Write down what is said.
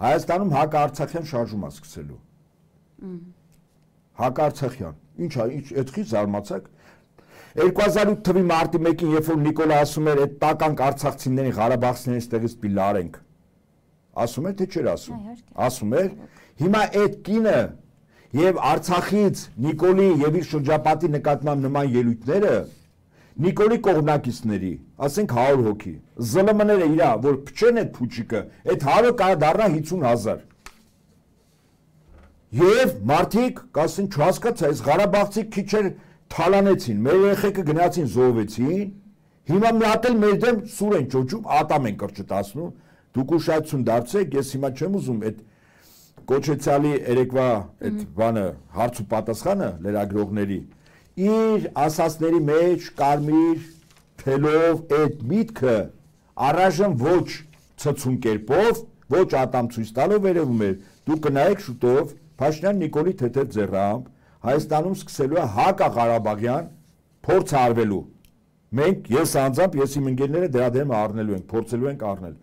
Հայաստանում հակարցախյան շարժում է սկսելու։ Հակարցախյան։ Ինչ այդքի զարմացաք։ 2008 թվականի մարտի 1-ին, երբ որ Նիկոլը ասում էր, այդ տականք արցախցիներին, ղարաբաղցիներին ստեղից պիտի լարենք։ Ասում էր, թե չէր ասում։ Ասում էր, հիմա այդ կինը եւ Արցախից Նիկոլի եւ իր շրջապատի նկատմամբ նման ելույթները Նիկոլի կողմնակիցների, ասենք 100 հոգի, ԶԼՄ-ները իրա, որ փչեն այդ փուչիկը, այդ 100-ը կարող դառնա 50,000։ Եվ մարդիկ, կասեն, չհասկացա, այս Ղարաբաղցի քիչեր թալանեցին, մեր երեխեքը գնացին զոհվեցին, հիմա մի հատ էլ մեր դեմ սուր են ճոճում, ատամ են կրճտացնում, դուք ուշադրություն դարձեք, ես հիմա չեմ ուզում այդ կոչեցյալի երեկվա այդ բանը հարց ու պատասխանը լրագրողների իր ասածների մեջ կարմիր թելով այդ միտքը առայժմ ոչ ցցուն կերպով, ոչ ատամ ցույց տալով վերևում էր, դուք կնայեք շուտով Փաշինյան Նիկոլի թեթև ձեռամբ Հայաստանում սկսելու է հակաղարաբաղյան փորձ արվելու։ Մենք ես անձամբ, ես իմ ընկերները դրա դեմ առնելու ենք, փորձելու ենք առնել։